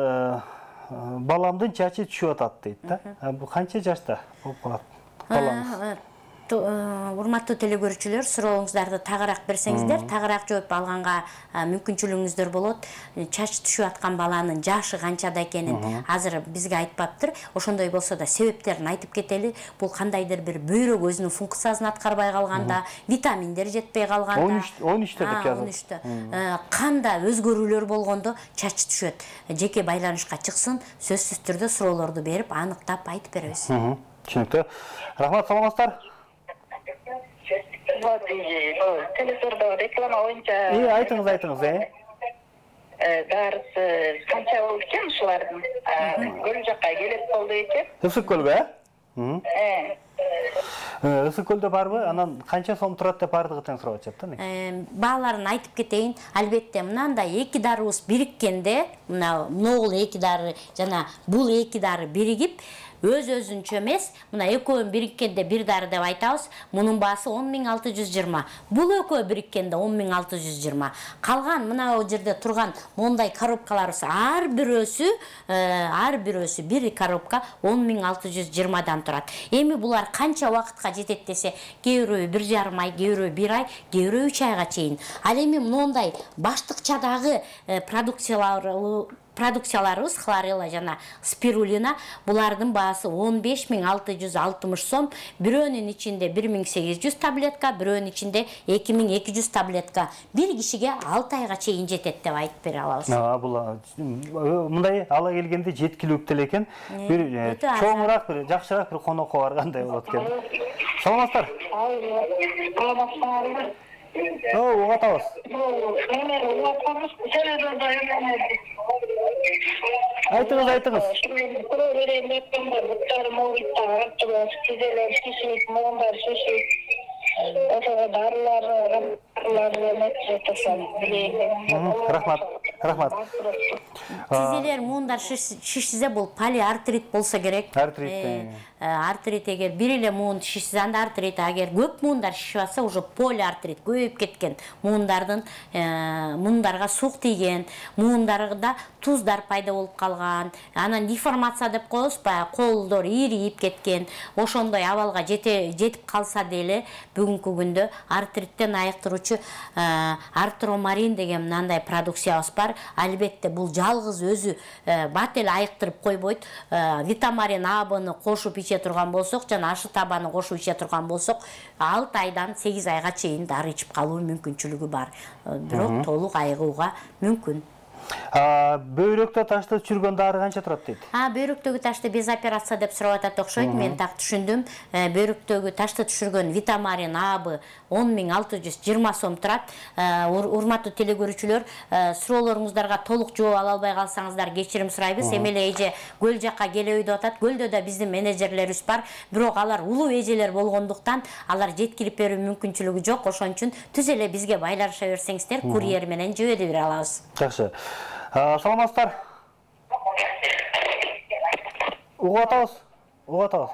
баламдын чачы түшүп атат дейт да. Бул канча жашта болуп калат? Балаңыз. Урматтуу телекөрүүчүлөр, сурооңуздарды тагыраак берсеңиздер, тагыраак жооп алганга мүмкүнчүлүгүңүздөр болот. Чач түшүп аткан баланын жашы канчада экенин азыр бизге айтпаптыр. Ошондой болсо да себептерин айтып кетели. Бул кандайдыр бир бөйрөк өзүнүн функциясын аткарбай калганда, витаминдер жетпей калганда, он үчтө деп жазылат. он үчтө. Канда өзгөрүүлөр болгондо чач түшөт. Жеке байланышка чыксын, сөзсүз түрдө суроолорду берип, аныктап айтып беребиз. Түшүнүктүү. Рахмат, саламатсыздар. Телевизорда реклама боюнча. И, айтыңыз, айтыңыз, э? Дарысы канча болду экен ушулардын? Көл жакка келет болду экен. Ысык көлгө, э? Э. Ысык көлдө барбы? Анан канча сом турат деп бардыгы тең сурап атышат да мен. Бааларын айтып кетейин. Албетте мынандай эки дарыбыз бириккенде, мына могул эки дары жана бул эки дары биригип, өз-өзүнчө эмес, мына экөөнүн бириккенде бир дары деп айтабыз. Мунун баасы он миң алты жүз жыйырма. Бул экөө бириккенде он миң алты жүз жыйырма. Калган мына жерде турган мондай коробкаларыбыз ар бирөөсү, ар бирөөсү бир коробка он миң алты жүз жыйырмадан турат. Эми булар канча убакытка жетет десе, кээ бирөө бир жарым ай, кээ бирөө бир ай, кээ бирөө үч айга чейин. Ал эми моундай баштыкчадагы продукциялар Продукцияларыбыз хлорелла жана спирулина, булардын баасы он беш миң алты жүз алтымыш сом, бирөөнүн ичинде бир миң сегиз жүз таблетка, бирөөнүн ичинде эки миң эки жүз таблетка. Бир кишиге алты айга чейин жетет деп айтып бере алабыз. А, бул мындай ала келгенде жеткиликтүү эле экен. Бир чоңураак, бир жакшыраак бир конокко баргандай болот экен. Саламатсыздар. Саламатсыздар. О, угатабыз. Айтыңыз, айтыңыз. Рахмат, рахмат. Тизелер муундар шишсе бул полиартрит болсо керек. Артрит. Артрит эгер бир эле муун шишсе анда артрит, агер көп муундар шишип атса уже полиартрит, көбөйүп кеткен муундардын муундарга сук тийген, муундарда туздар пайда болуп калган, анан деформация деп коебуз, баягы колдор ийрип кеткен, ошондой абалга жетип калса деле бүгүнкү күндө артриттен айыктыруучу артромарин деген мындай продукциябыз бар. Албетте бул жалгыз өзү бат эле айыктырып койбойт. Витамарин А-ны кошуп иче турган болсок жана ашы табаны кошуп иче турган болсок, алты айдан сегиз айга чейин дары ичип калуу мүмкүнчүлүгү бар. Бирок толук айыгууга мүмкүн. Бөйрөктө ташты түшүргөн дары канча турат дейт? А, бөйрөктөгү ташты без операция деп сурап атат окшойт. Мен так түшүндүм. Бөйрөктөгү ташты түшүргөн Витамарин А-бы он миң алты жүз жыйырма сом турат. Урматтуу телекөрүүчүлөр, суроолоруңуздарга толук жооп ала албай калсаңыздар кечирим сурайбыз. Эми эле эже көл жакка келеби деп атат. Көлдө да биздин менеджерлерибиз бар. Бирок алар улуу эжелер болгондуктан алар жеткирип берүү мүмкүнчүлүгү жок. Ошон үчүн түз эле бизге байланыша берсеңиздер, курьер менен жибере бере алабыз. Жакшы. Саламатсыздар. Угатабыз. Угатабыз.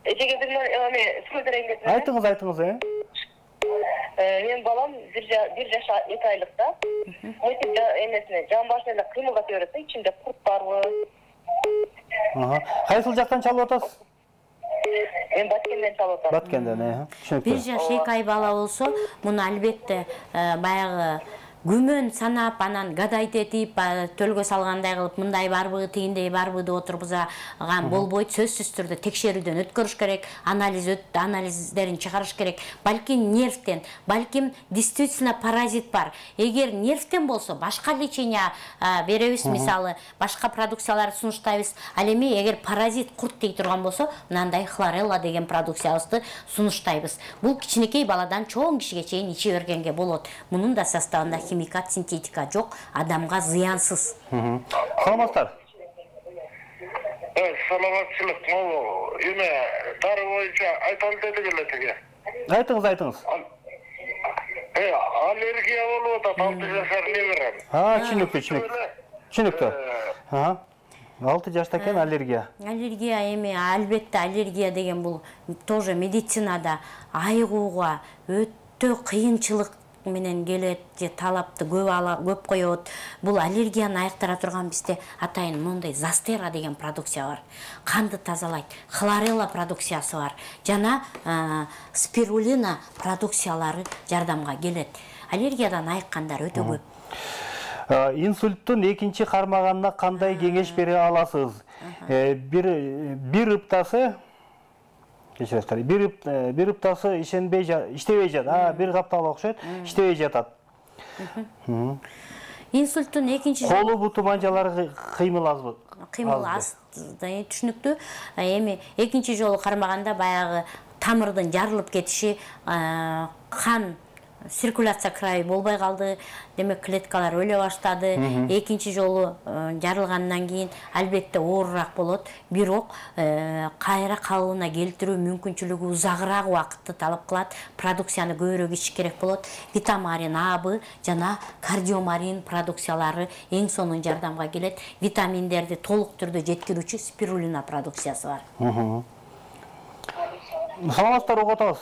Эжеге бир эме сөз берейин. Айтыңыз, айтыңыз, э? Мен балам бир жаш эки айлыкта. Мектеп эмесине жан башына эле кыймылдап берет, ичинде курт барбы? Ага. Кайсыл жактан чалып атасыз? Мен Баткенден чалып атам. Баткенден, э? Түшүнүктүү. Бир жаш эки ай бала болсо, муну албетте баягы күмөн санап, анан гадайт этип, төлгө салгандай кылып, мындай барбы, тигиндей барбы деп отургузган болбойт. Сөзсүз түрдө текшерүүдөн өткөрүш керек, анализ анализдерин чыгарыш керек. Балким нервтен, балким действительно паразит бар. Эгер нервтен болсо, башка лечение беребиз, мисалы, башка продукцияларды сунуштайбыз. Ал эми эгер паразит курт тиги турган болсо, мындай хлорелла деген продукциябызды сунуштайбыз. Бул кичинекей баладан чоң кишиге чейин иче бергенге болот. Мунун да составында химикат, синтетика жок, адамга зыянсыз. Саламатсыздар. Саламатчылык, могу эме дары боюнча айталы дедик эле тиги. Айтыңыз, айтыңыз. Э, аллергия болуп атат, алты жашар неберем. А, түшүнүктүү, түшүнүктүү. Түшүнүктүү. Ага. алты жашта экен аллергия. Аллергия эми албетте аллергия деген бул тоже медицинада айыгууга өтө кыйынчылык менен келет, же талапты көп ала көп коет. Бул аллергияны айыктыра турган бизде атайын мондай застера деген продукция бар. Канды тазалайт. Хлорелла продукциясы бар. Жана спирулина продукциялары жардамга келет. Аллергиядан айыккандар өтө көп. Инсульттун экинчи кармаганына кандай кеңеш бере аласыз? Бир бир ыптасы кечиресиздер. Бир бир ыптасы ишенбей иштебей жатат. Бир каптал окшойт, иштебей жатат. Инсульттун экинчи колу буту манжалары кыймыл азбы? Кыймыл аз, түшүнүктүү. Эми экинчи жолу кармаганда баягы тамырдын жарылып кетиши, кан циркуляция крайы болбой калды, демек клеткалар өлө баштады. Экинчи жолу жарылгандан кийин албетте оорураак болот, бирок кайра калыбына келтирүү мүмкүнчүлүгү узагыраак убакытты талап кылат. Продукцияны көбүрөөк ичиш керек болот. Витамарин А, Б жана кардиомарин продукциялары эң сонун жардамга келет. Витаминдерди толук түрдө жеткирүүчү спирулина продукциясы бар. Саламатсыздар, угуп атабыз.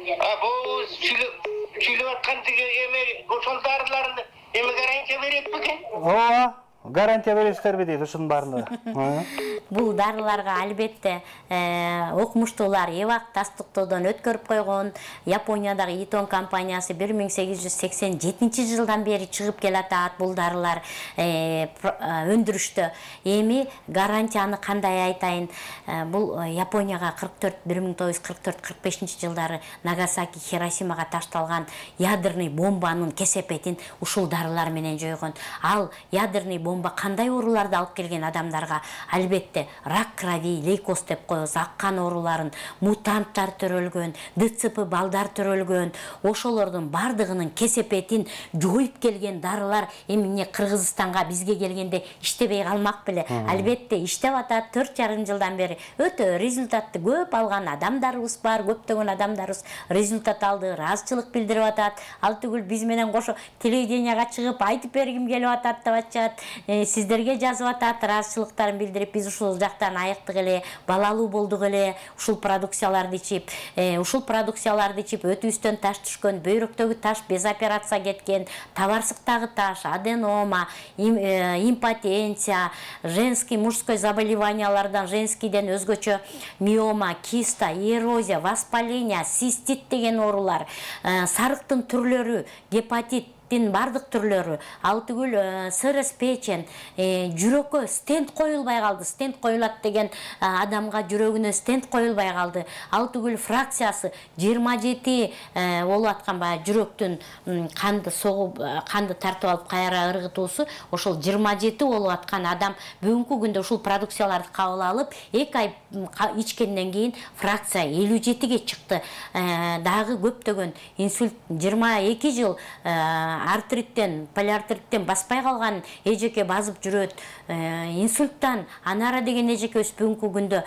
А бул чүйлөп аткан тиги эме ошол дарыларды эме гарантия берет бекен? Ооба, гарантия бересиздерби дейт ушунун баарына. Бул дарыларга албетте окумуштуулар Эвак тастыктоодон өткөрүп койгон. Япониядагы Итон компаниясы бир миң сегиз жүз сексен жетинчи жылдан бери чыгып келатат бул дарылар өндүрүштө. Эми гарантияны кандай айтайын? Бул Японияга кырк төрт бир миң тогуз жүз кырк төрт кырк бешинчи жылдары Нагасаки, Хиросимага ташталган ядерный бомбанын кесепетин ушул дарылар менен жойгон. Ал ядерный бомба кандай ооруларды алып келген адамдарга? Албетте рак крови, лейкоз деп коебуз, аккан ооруларын, мутанттар төрөлгөн, ДЦП балдар төрөлгөн, ошолордун бардыгынын кесепетин жоюп келген дарылар эми эмне Кыргызстанга бизге келгенде иштебей калмак беле? Албетте иштеп атат. төрт жарым жылдан бери өтө результатты көп алган адамдарыбыз бар, көптөгөн адамдарыбыз результат алды, ыраазычылык билдирип атат. Ал түгүл биз менен кошо телевиденияга чыгып айтып бергим келип атат деп атышат. Сиздерге жазып атат, ыраазычылыктарын билдирип, биз ушул жактан айыктык эле, балалуу болдук эле, ушул продукцияларды ичип, ушул продукцияларды ичип өтүбүздөн таш түшкөн, бөйрөктөгү таш без операция кеткен, табарсыктагы таш, аденома, импотенция, женский, мужской заболеваниялардан, женскийден өзгөчө миома, киста, эрозия, воспаление, цистит деген оорулар, сарыктын түрлөрү, гепатит бардык түрлөрү, ал түгүл сырыс печень, жүрөккө стенд коюлбай калды. Стенд коюлат деген адамга жүрөгүнө стенд коюлбай калды. Ал түгүл фракциясы жыйырма жети болуп аткан баягы жүрөктүн канды согуп, канды тартып алып кайра ыргытуусу, ошол жыйырма жети болуп аткан адам бүгүнкү күндө ушул продукцияларды кабыл алып, эки ай ичкенден кийин фракция элүү жетиге чыкты. Дагы көптөгөн инсульт жыйырма эки жыл артриттен, полиартриттен баспай калган эжеке базып жүрөт. Инсульттан анара деген эжекебиз бүгүнкү күндө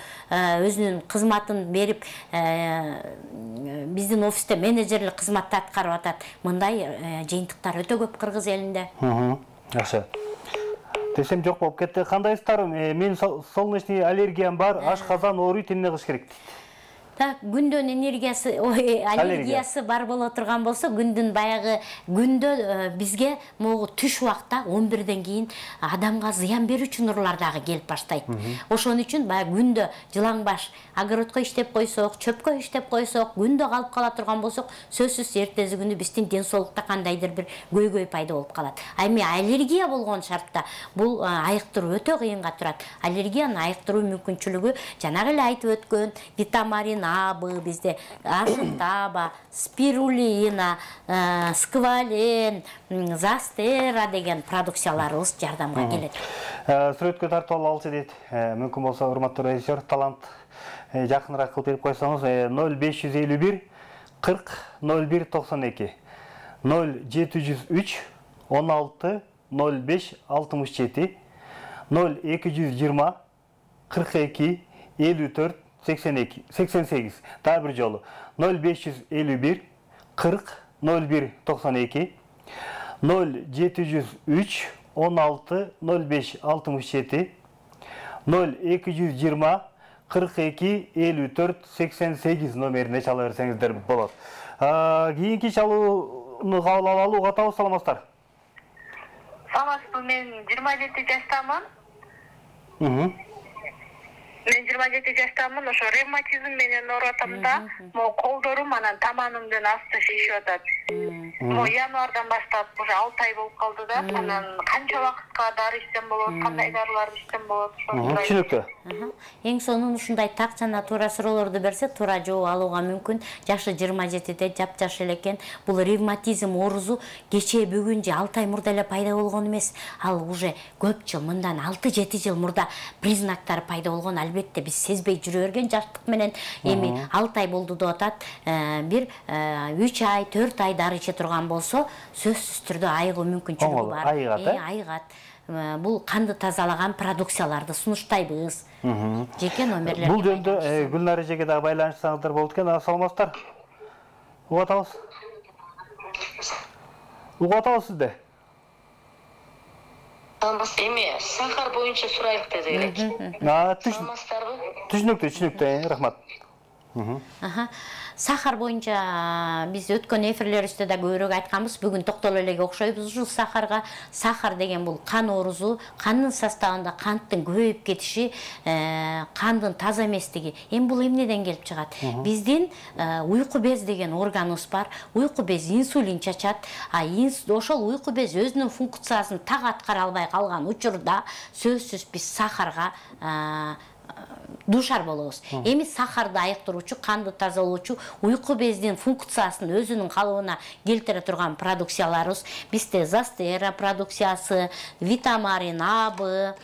өзүнүн кызматын берип, биздин офисте менеджерлик кызматты аткарып атат. Мындай жыйынтыктар өтө көп Кыргыз элинде. Жакшы. Десем жок болуп кетти. Кандайсыздар? Мен солнечный аллергиям бар, ашказан ооруйт, эмне кылыш керек? Так, күндөн энергиясы, ой, аллергиясы бар боло турган болсо, күндүн баягы күндө бизге могу түш убакта он бирден кийин адамга зыян берүүчү нурлар дагы келип баштайт. Ошон үчүн баягы күндө жылаңбаш огородко иштеп койсок, чөпкө иштеп койсок, күндө калып кала турган болсок, сөзсүз эртеси күнү биздин ден соолукта кандайдыр бир көйгөй пайда болуп калат. А эми аллергия болгон шартта бул айыктыруу өтө кыйынга турат. Аллергияны айыктыруу мүмкүнчүлүгү жанагы эле айтып өткөн витамин А, Б bizde Ашытаба, спирулина, сквален, застера деген продукцияларыбыз жардамга келет. Сүрөткө тартып алчы дейт. Мүмкүн болсо, урматтуу режиссер, талант жакыныраак кылып берип койсоңуз, ноль беш жүз элүү бир кырк ноль бир токсон эки, ноль жети жүз үч он алты ноль беш алтымыш жети, ноль эки жүз жыйырма кырк эки элүү төрт сексен эки сексен сегиз. Дагы бир жолу ноль беш жүз элүү бир кырк ноль бир токсон эки, ноль жети жүз үч он алты ноль беш алтымыш жети, ноль эки жүз жыйырма кырк эки элүү төрт сексен сегиз номерине чала берсеңиздер болот. Кийинки чалууну кабыл алалы, угат алып саламатсыздар. Саламатсызбы, мен жыйырма жети жаштамын. Мен жыйырма жети жаштамын, ошо ревматизм менен ооруп атам да, могу колдорум анан таманымдын асты шишип атат. Могу январдан баштап уже алты ай болуп калды да, анан канча убакытка дары ичсем болот, кандай дарылар ичсем болот? Түшүнүктүү. Эң сонун ушундай так жана туура суроолорду берсе, туура жооп алууга мүмкүн. Жашы жыйырма жетиде, жапжаш эле экен. Бул ревматизм оорусу кечээ бүгүн же алты ай мурда эле пайда болгон эмес. Ал уже көп жыл, мындан алты жети жыл мурда признактары пайда болгон. Албетте биз сезбей жүрө берген жаштык менен эми алты ай болду деп атат. Бир үч ай, төрт ай дары иче турган болсо, сөзсүз түрдө айыгуу мүмкүнчүлүгү бар. Айыгат, э? Айыгат. Бул канды тазалаган продукцияларды сунуштайбыз. Жеке номерлер. Бул жөндө Гүлнар эжеге дагы байланышсаңыздар болот экен. Саламатсыздар. Угат алабыз. Угат алабыз сизде. Эми сахар боюнча сурайлык деди элек. Саламатсыздарбы? Түшүнүктүү, түшүнүктүү, рахмат. Сахар боюнча биз өткөн эфирлерибизде да көбүрөөк айтканбыз. Бүгүн токтоло элеге окшойбуз ушул сахарга. Сахар деген бул кан оорусу, кандын составында канттын көбөйүп кетиши, кандын таза эместиги. Эми бул эмнеден келип чыгат? Биздин уйку без деген органыбыз бар. Уйку без инсулин чачат. А ошол уйку без өзүнүн функциясын так аткара албай калган учурда сөзсүз биз сахарга душар болобуз. Эми сахарды айыктыруучу, канды тазалоочу, уйку бездин функциясын өзүнүн калыбына келтире турган продукцияларыбыз бизде застера продукциясы, витамин А, Б,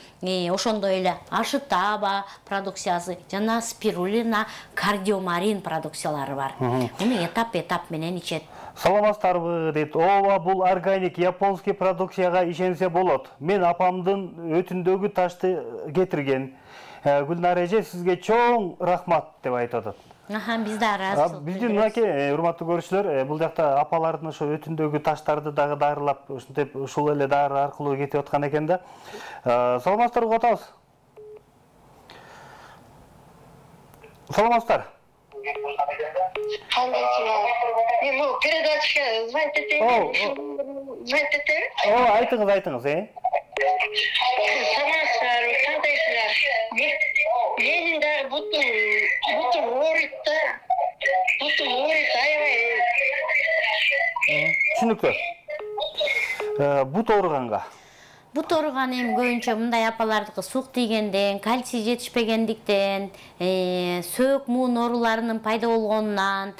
ошондой эле Ашытаба продукциясы жана спирулина, кардиомарин продукциялары бар. Муну этап-этап менен ичет. Саламатсыздарбы дейт. Ооба, бул органик японский продукцияга ишенсе болот. Мен апамдын өтүндөгү ташты кетирген. Гүлнар эже, сизге чоң рахмат деп айтып атат. Аха, биз да ыраазычылык. Биздин мынакей урматтуу көрүүчүлөр, бул жакта апалардын ошо өтүндөгү таштарды дагы дарылап, ушинтип ушул эле дары аркылуу кетип аткан экен да. Саламатсыздарбы, угат алабыз. Саламатсыздар. Мен бул передачага звонить этейин. Звонить этейин? О, айтыңыз, айтыңыз, э? Саламатсыздар, кандайсыздар? Менин дагы бутум, бутум ооруйт да. Бутум ооруйт, аябай. Түшүнүктүү. Бут ооруганга. Бут ооруган эми көбүнчө мындай апалардыкы сук тийгенден, кальций жетишпегендиктен, сөөк муун ооруларынын пайда болгонунан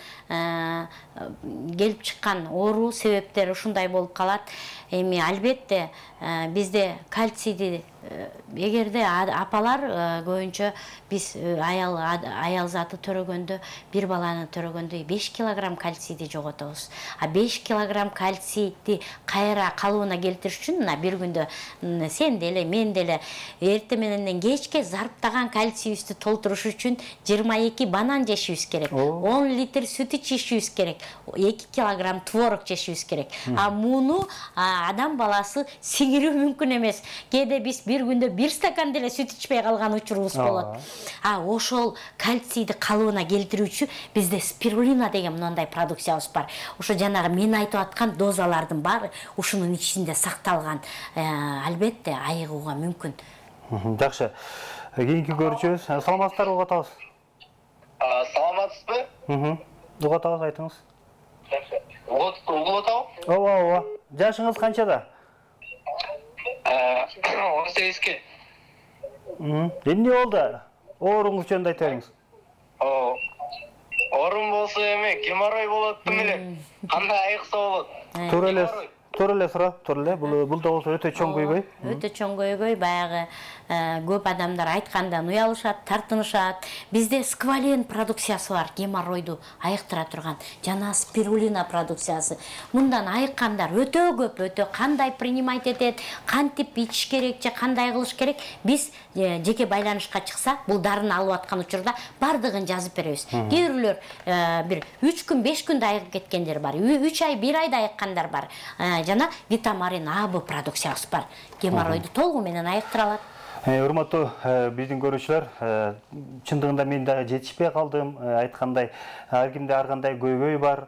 келип чыккан оору себептери ушундай болуп калат. Эми албетте бизде кальцийди эгерде апалар көбүнчө биз аял аял заты төрөгөндө, бир баланы төрөгөндө беш килограмм кальцийди жоготобуз. А беш килограмм кальцийди кайра калыбына келтириш үчүн мына бир күндө сен деле, мен деле эртең менен кечке зарптаган кальцийибизди толтуруш үчүн жыйырма эки банан жешибиз керек. он литр сүт ичишибиз керек. эки килограмм творог жешибиз керек. А муну адам баласы сиңирүү мүмкүн эмес. Кээде биз бир бир күндө бир стакан деле сүт ичпей калган учурубуз болот. А ошол кальцийди калыбына келтирүүчү бизде спирулина деген мындай продукциябыз бар. Ошо жанагы мен айтып аткан дозалардын баары ушунун ичинде сакталган. Албетте айыгууга мүмкүн. Жакшы. Кийинки көрүүчүбүз, саламатсыздарбы, угатабыз? Саламатсызбы? Мм. Угатабыз, айтыңыз. Угуп атабы? Ооба, ооба. Жашыңыз канчада? он сегизге. Мм. Эмне болду? Ооруңуз жөнүндө айта бериңиз. Оорум болсо эме, геморрой болот эле. Кандай айыкса болот? Туура эле, туура эле сурап, туура эле. Бул бул да болсо өтө чоң көйгөй. Өтө чоң көйгөй, баягы көп адамдар айткандан уялышат, тартынышат. Бизде сквален продукциясы бар, геморройду айыктыра турган, жана спирулина продукциясы. Мындан айыккандар өтө көп, өтө кандай принимать этет, кантип ичиш керек же кандай кылыш керек. Биз жеке байланышка чыкса, бул дарыны алып аткан учурда бардыгын жазып беребиз. Кээ бирлер бир үч күн, беш күндө айыгып кеткендер бар. үч ай, бир айда айыккандар бар. Жана Витамарин А Б продукциясы бар. Геморройду толугу менен айыктыра алат. Урматтуу биздин көрүүчүлөр, чындыгында мен дагы жетишпей калдым. Айткандай, ар кимде ар кандай көйгөй бар.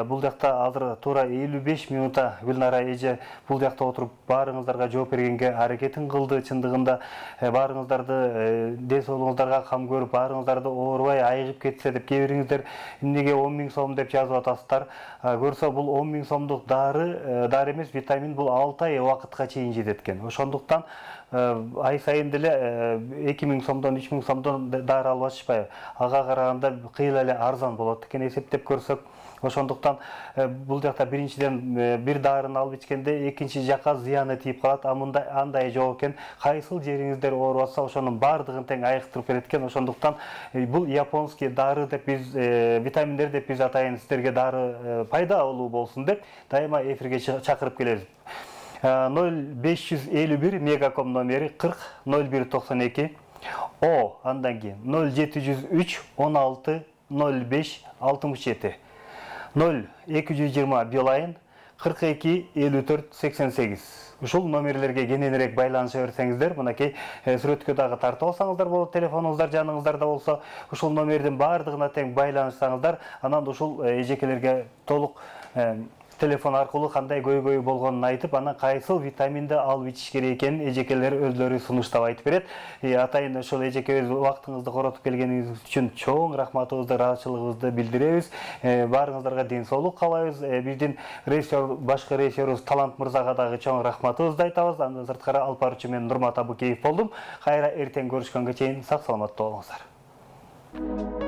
Бул жакта азыр туура элүү беш минутта Гүлнара эже бул жакта отуруп баарыңыздарга жооп бергенге аракетин кылды. Чындыгында баарыңыздарды ден соолугуңуздарга кам көрүп, баарыңыздарды оорубай айыгып кетсе деп, кээ бириңиздер эмнеге он миң сом деп жазып атасыздар. Көрсө бул он миң сомдук дары, дары эмес, витамин бул алты ай убакытка чейин жетет экен. Ошондуктан ай сайын деле эки миң сомдон, үч миң сомдон дары алып атышпайбы. Ага караганда кыйла эле арзан болот экен эсептеп көрсөк. Ошондуктан бул жакта биринчиден бир дарыны алып ичкенде экинчи жакка зыяны тийип калат. А мындай андай жок экен. Кайсыл жериңиздер ооруп атса, ошонун бардыгын тең айыктырып берет экен. Ошондуктан бул японский дары деп биз, витаминдер деп биз атайын, сиздерге дары пайдалуу болсун деп дайыма эфирге чакырып келебиз. ноль беш жүз элүү бир мегаком номери кырк ноль бир токсон эки, О андан кийин ноль жети жүз үч он алты ноль беш алтымыш жети, ноль эки жүз жыйырма Билайн кырк эки элүү төрт сексен сегиз. Ушул номерлерге кененирээк байланыша берсеңиздер, мынакей сүрөткө дагы тартып алсаңыздар болот, телефонуңуздар жаныңыздарда болсо, ушул номердин бардыгына тең байланышсаңыздар, анан ушул эжекелерге толук телефон аркылуу кандай көйгөй болгонун айтып, анан кайсыл витаминди алып ичиш керек экенин эжекелер өзлөрү сунуштап айтып берет. Атайын ошол эжекебиз убактыңызды коротуп келгениңиз үчүн чоң рахматыбызды, ыраазычылыгыбызды билдиребиз. Баарыңыздарга ден соолук каалайбыз. Биздин режиссер, башкы режиссерибиз Талант мырзага дагы чоң рахматыбызды айтабыз. Андан сырткары алып баруучу мен Нурмат Абыкеев болдум. Кайра эртең көрүшкөнгө чейин сак саламатта болуңуздар.